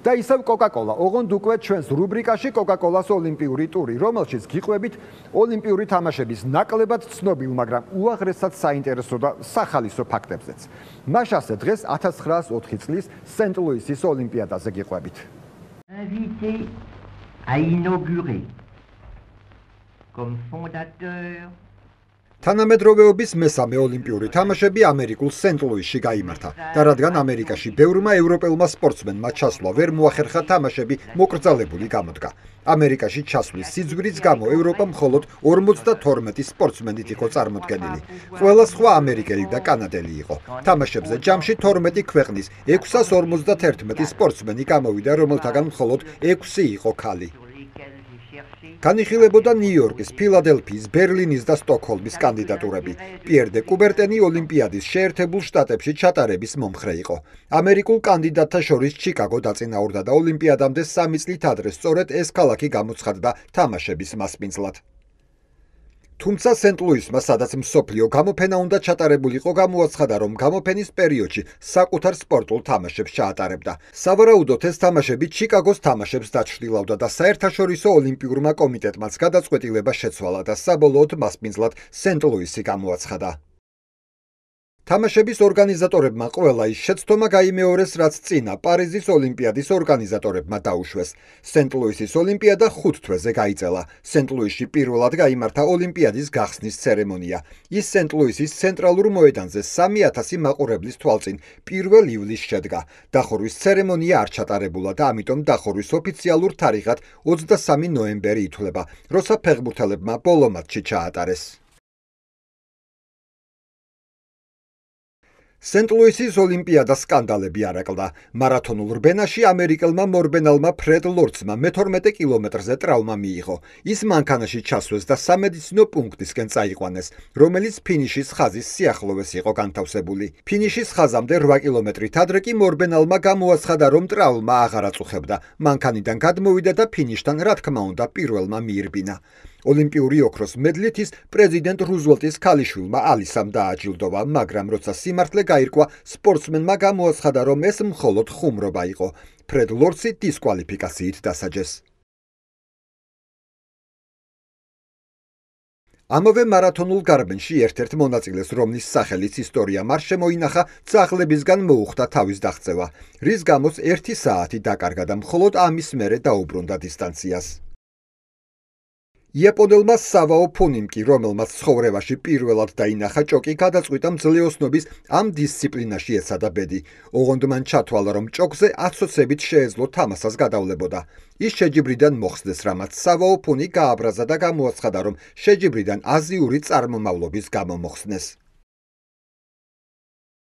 და ისევ Coca-Cola. ოღონდ უკვე ჩვენს რუბრიკაში Coca-Cola-ს ოლიმპიური ტური, რომელშიც გიყვებით ოლიმპიური თამაშების ნაკლებად ცნობილ, მაგრამ უაღრესად საინტერესო და სახალისო ფაქტებზეც. მაშასე დღეს 1904 წლის სენტ-ლუისის ოლიმპიადაზე გიყვებით. Invité à inaugurer comme fondateur თანამედროვეობის მესამე ოლიმპიური თამაშები ამერიკულ სენტ-ლუისში გაიმართა და რადგან ამერიკაში ბევრმა ევროპელმა სპორტსმენმა ჩასვლა ვერ მოახერხა თამაშები მოკრძალებული გამოდგა. ამერიკაში ჩასვლის სიძვრის გამო ევროპა მხოლოდ 52 სპორტსმენით იყო წარმოდგენილი. ყველა სხვა ამერიკელი და კანადელი იყო. თამაშებზე ჯამში 12 ქვეყნის 651 სპორტსმენი გამოვიდა, რომელთაგან მხოლოდ 6 იყო ქალი. განიხილებოდა ნიუ-იორკის, ფილადელფიის, ბერლინის და სტოკჰოლმის კანდიდატურები. პიერ დე კუბერტენი ოლიმპიადის შეერთებულ შტატებში ჩატარების მომხრე იყო. ამერიკულ კანდიდატთა შორის ჩიკაგო დაწინაურდა და ოლიმპიადამდე 3 წლით ადრე სწორედ ეს ქალაქი გამოცხადდა თამაშების მასპინძლად. თუმცა სენტ-ლუისმა, სადაც მსოფლიო გამოფენა უნდა ჩატარებულიყო, გამოაცხადა, რომ გამოფენის პერიოდში საკუთარ სპორტულ თამაშებს ჩაატარებდა. სავარაუდოდ ეს თამაშები ჩიკაგოს თამაშებს დაჩრდილავდა და საერთაშორისო ოლიმპიურმა კომიტეტმაც გადაწყვეტილება შეცვალა და საბოლოოდ მასპინძლად სენტ-ლუისი გამოაცხადა. თამაშების ორგანიზატორებმა ყველა ის შეცდომა გაიმეორეს, რაც წინა პარიზის ოლიმპიადის ორგანიზატორებმა დაუშვეს. სენტ-ლუისის ოლიმპიადა 5 თვეზე გაიწელა. სენტ-ლუისში პირველად გაიმართა ოლიმპიადის გახსნის ცერემონია. ის სენტ-ლუისის ცენტრალურ მოედანზე 3000 მაყურებლის თვალწინ 1 ივლისს შედგა. დახურვის ცერემონია არ ჩატარებულა და ამიტომ დახურვის ოფიციალურ თარიღად 23 ნოემბერი ითვლება, როცა ფეხბურთელებმა ბოლო მატჩი ჩაატარეს. სენტ-ლუისის ოლიმპიადა სკანდალები არაკლდა. მარათონულ რბენაში ამერიკელმა მორბენალმა ფრედ ლორცმა მე-12 კილომეტრზე ტრავმა მიიღო. ის მანქანაში ჩასვეს და სამედიცინო პუნქტისკენ წაიყვანეს, რომელიც ფინიშის ხაზის სიახლოვეს იყო განთავსებული. ფინიშის ხაზამდე 8 კილომეტრით ადრე კი მორბენალმა გამოაცხადა, რომ ტრავმა აღარ აწუხებდა. მანქანიდან გადმოვიდა და ფინიშთან, რა თქმა უნდა, პირველმა მიირბინა. ოლიმპიური ოქროს მედლით ის პრეზიდენტ რუზველტის ქალიშვილმა ალისამ დააჯილდოვა, მაგრამ როცა სიმართლე გაირკვა, სპორტსმენმა გამოაცხადა, რომ ეს მხოლოდ ხუმრობა იყო. ფრედ ლორცი დისკვალიფიკაციით დასაჯეს. ამავე მარათონულ გარბენში ერთ-ერთ მონაწილეს, რომლის სახელიც ისტორიამ არ შემოინახა, ძაღლებისგან მოუხდა თავის დაღწევა, რის გამოც 1 საათი დაკარგა და მხოლოდ ამის მერე დაუბრუნდა დისტანციას. იაპონელმა სავაო ფუნიმ კი, რომელმაც ცხოვრებაში პირველად დაინახა ჭოკი, გადაწყვიტა მძლეოსნობის ამ დისციპლინაში ეცადა ბედი. ოღონდ მან ჩათვალა, რომ ჭოკზე აცოცებით შეეძლო თამასას გადავლებოდა. ის შეჯიბრიდან მოხსდეს, რამაც სავაო ფუნი გააბრაზა და გამოაცხადა, რომ შეჯიბრიდან აზიური წარმომავლობის გამო მოხსნეს.